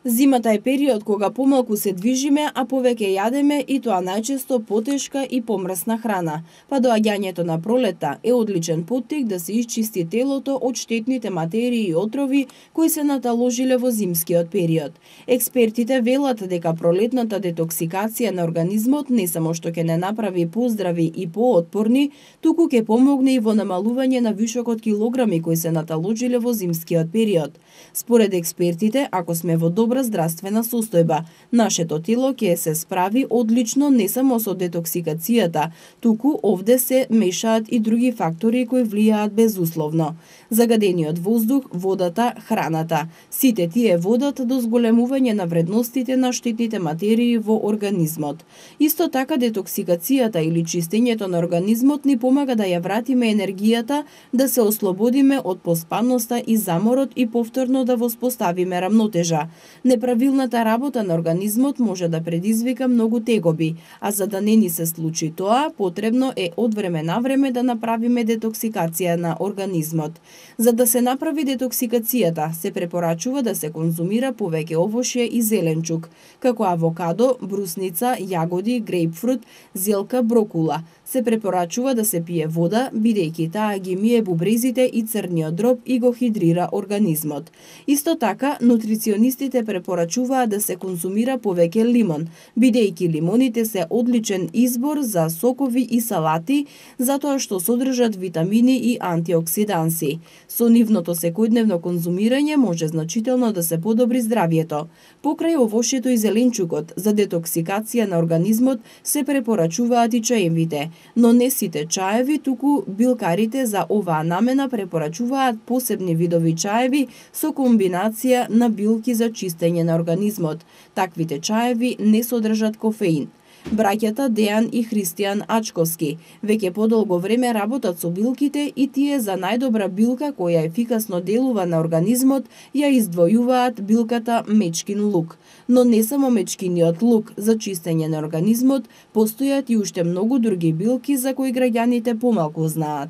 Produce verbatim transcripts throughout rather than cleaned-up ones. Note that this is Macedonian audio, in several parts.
Зимата е период кога помалку се движиме, а повеќе јадеме и тоа најчесто потешка и помрсна храна. Па доаѓањето на пролета е одличен поттик да се исчисти телото од штетните материи и отрови кои се наталожиле во зимскиот период. Експертите велат дека пролетната детоксикација на организмот не само што ќе не направи поздрави и поотпорни, туку ќе помогне и во намалување на вишокот килограми кои се наталожиле во зимскиот период. Според експертите, ако сме во добра здравствена состојба, нашето тело ќе се справи одлично не само со детоксикацијата, туку овде се мешаат и други фактори кои влијаат безусловно. Загадениот воздух, водата, храната. Сите тие водат до зголемување на вредностите на штетните материи во организмот. Исто така детоксикацијата или чистењето на организмот ни помага да ја вратиме енергијата, да се ослободиме од поспаноста и заморот и повторно да воспоставиме рамнотежа. Неправилната работа на организмот може да предизвика многу тегоби, а за да не ни се случи тоа, потребно е од време на време да направиме детоксикација на организмот. За да се направи детоксикацијата, се препорачува да се конзумира повеќе овошје и зеленчук, како авокадо, брусница, јагоди, грейпфрут, зелка, брокула. Се препорачува да се пие вода, бидејќи таа ги мие бубрезите и црниот дроб и го хидрира организмот. Исто така, нутриционистите препорачуваат да се конзумира повеќе лимон, бидејќи лимоните се одличен избор за сокови и салати, затоа што содржат витамини и антиоксиданси. Со нивното секојдневно конзумирање може значително да се подобри здравјето. Покрај овошјето и зеленчукот, за детоксикација на организмот се препорачуваат и чаевите, но не сите чаеви, туку билкарите за оваа намена препорачуваат посебни видови чаеви со комбинација на билки за чистење на организмот. Таквите чаеви не содржат кофеин. Браќата Дејан и Христијан Ачковски веќе подолго време работат со билките и тие за најдобра билка која ефикасно делува на организмот ја издвојуваат билката мечкин лук. Но не само мечкиниот лук за чистење на организмот, постојат и уште многу други билки за кои граѓаните помалку знаат.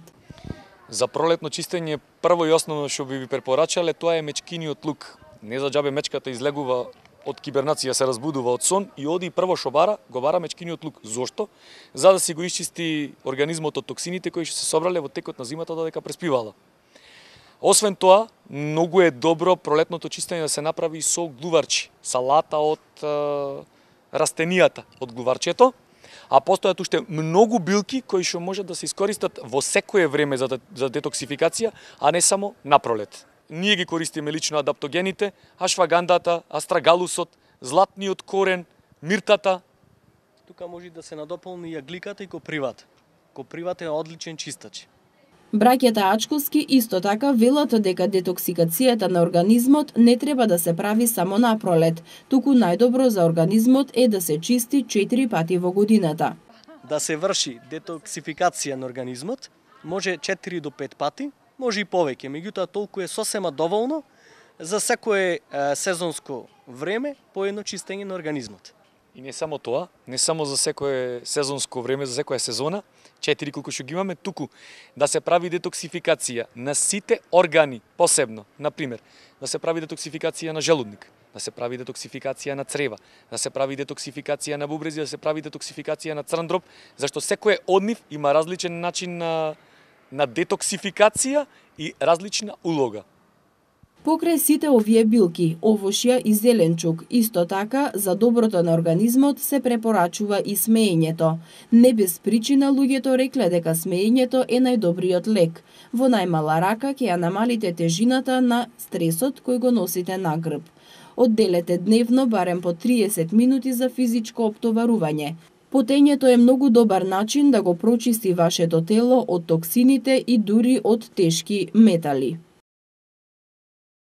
За пролетно чистење прво и основно што би ви препорачале тоа е мечкиниот лук. Не за џабе мечката излегува од кибернација, се разбудува од сон и оди прво што бара, го бара мечкиниот лук. Зошто? За да си го исчисти организмот од токсините кои што се собрале во текот на зимата додека преспивала. Освен тоа, многу е добро пролетното чистење да се направи со глуварчи, салата од е, растенијата од глуварчето, а постојат уште многу билки кои што можат да се искористат во секое време за, за детоксификација, а не само на пролет. Ние ги користиме лично адаптогените, ашвагандата, астрагалусот, златниот корен, миртата. Тука може да се надополни и агликата и копривата. Копривата е одличен чистач. Браќата Ачковски исто така велат дека детоксикацијата на организмот не треба да се прави само на пролет, туку најдобро за организмот е да се чисти четири пати во годината. Да се врши детоксификација на организмот може четири до пет пати, може и повеќе, меѓутоа толку е сосема доволно за секое е, сезонско време по едно чистење на организмот. И не само тоа, не само за секое сезонско време, за секоја сезона, четири колку што ги имаме, туку да се прави детоксификација на сите органи посебно. Например, да се прави детоксификација на желудник, да се прави детоксификација на црева, да се прави детоксификација на бубрези, да се прави детоксификација на црн дроб, зашто секој од нив има различен начин на на детоксификација и различна улога. Покрај сите овие билки, овошја и зеленчук, исто така за доброто на организмот се препорачува и смеењето. Не без причина луѓето рекле дека смеењето е најдобриот лек. Во најмала рака ќе ја намалите тежината на стресот кој го носите на грб. Одделете дневно барем по триесет минути за физичко оптоварување. Потењето е многу добар начин да го прочисти вашето тело од токсините и дури од тешки метали.